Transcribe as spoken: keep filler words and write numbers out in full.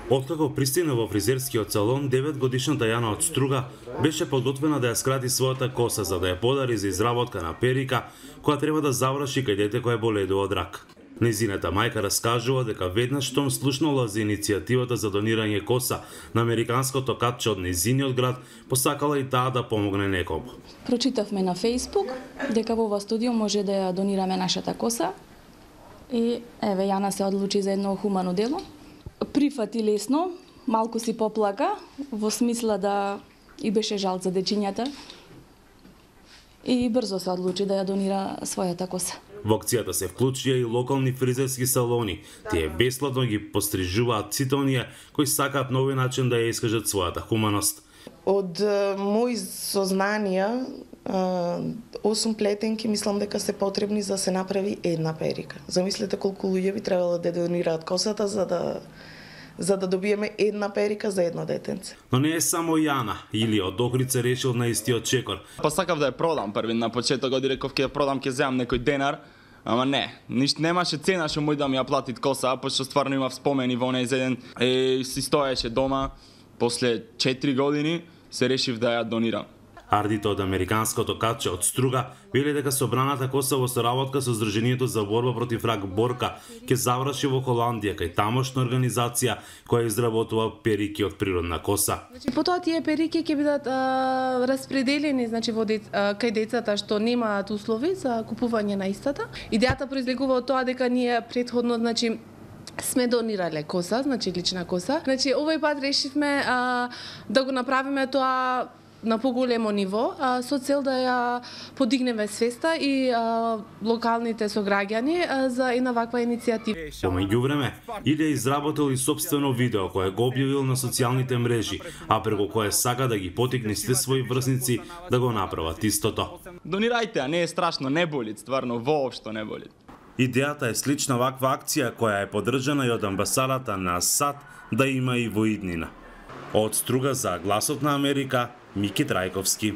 Откако пристигна во фризерскиот салон, деветгодишната Јана од Струга беше подготвена да ја скрати својата коса за да ја подари за изработка на перика која треба да заврши кај дете кое боледува од рак. Нејзината мајка раскажува дека веднаш штом слушнала за иницијативата за донирање коса на американското катче од нејзиниот град, посакала и таа да помогне некому. Прочитавме на Facebook дека во ова студио може да ја донираме нашата коса и еве Јана се одлучи за едно хумано дело. Прифати лесно, малку си поплака, во смисла да и беше жал за дечињата и брзо се одлучи да ја донира својата коса. Во акцијата се вклучија и локални фризерски салони. Тие бесплатно ги пострижуваат сите оние кои сакаат на овој начин да ја искажат својата хуманост. Од мои сознанија, осум плетенки мислам дека се потребни за да се направи една перика. Замислете колку луѓе би требало да донираат косата за да за да добиеме една перика за едно детенце. Но не е само Јана, или од Охрица решил на истиот чекор. Па сакав да ја продам први на почетокот, реков ќе ја продам, ќе земам некој денар, ама не, ништо немаше цена што мој да ми ја платит коса, пошто стварно имав спомени во оној ден и си стоеше дома. После четири години се решив да ја донирам. Ардите од американското катче од Струга вели дека собраната коса во соработка со Здруженијето за борба против рак Борка ќе заврши во Холандија кај тамошна организација која изработува перики од природна коса. Значи потоа тие перики ќе бидат а, распределени, значи во дец, а, кај децата што немаат услови за купување на истата. Идејата произлегува од тоа дека ние претходно, значи сме донирале коса, значи лична коса. Значи овој пат решивме а, да го направиме тоа на поголемо ниво, а, со цел да ја подигнеме свеста и а, локалните сограѓани а, за една ваква иницијатива. По меѓувреме, Илија изработил и собствено видео кое го објавил на социјалните мрежи, а преку кое сака да ги потикне сите своји врсници да го направат истото. Донирајте, а не е страшно, не боли, стварно, воопшто не боли. Идејата е слична ваква акција која е поддржана и од амбасадата на САД да има и во иднина. Од Струга за Гласот на Америка, Мики Трајковски.